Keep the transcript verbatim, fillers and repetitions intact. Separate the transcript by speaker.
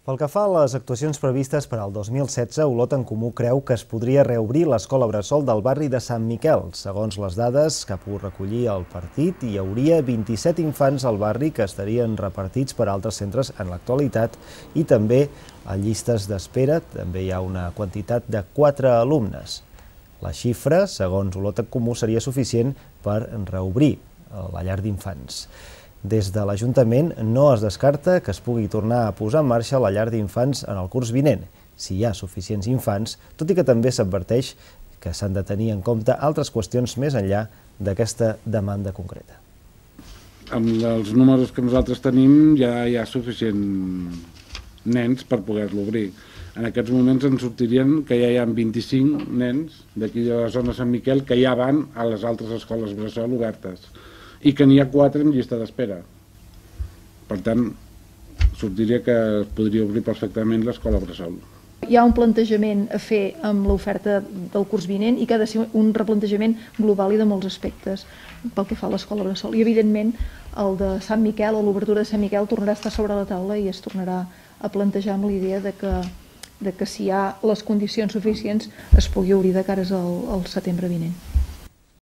Speaker 1: Pel que fa a les actuacions previstes per al dos mil setze, Olot en Comú creu que es podria reobrir l'escola bressol del barri de Sant Miquel. Segons les dades que ha pogut recollir el partit, hi hauria vint-i-set infants al barri que estarien repartits per altres centres en l'actualitat i també a llistes d'espera també hi ha una quantitat de quatre alumnes. La xifra, segons Olot en Comú, seria suficient per reobrir la llar d'infants. Des de l'Ajuntament no es descarta que es pugui tornar a posar en marxa la llar d'infants en el curs vinent, si hi ha suficients infants, tot i que també s'adverteix que s'han de tenir en compte altres qüestions més enllà d'aquesta demanda concreta.
Speaker 2: Amb els números que nosaltres tenim ja hi ha suficients nens per poder-lo obrir. En aquests moments ens sortirien que ja hi ha vint-i-cinc nens d'aquí de la zona de Sant Miquel que ja van a les altres escoles bressol obertes i que n'hi ha quatre en llista d'espera. Per tant, sortiria que es podria obrir perfectament l'escola bressol.
Speaker 3: Hi ha un plantejament a fer amb l'oferta del curs vinent i que ha de ser un replantejament global i de molts aspectes pel que fa a l'escola bressol. I, evidentment, el de Sant Miquel o l'obertura de Sant Miquel tornarà a estar sobre la taula i es tornarà a plantejar amb la idea de que, de que si hi ha les condicions suficients es pugui obrir de cares al, al setembre vinent.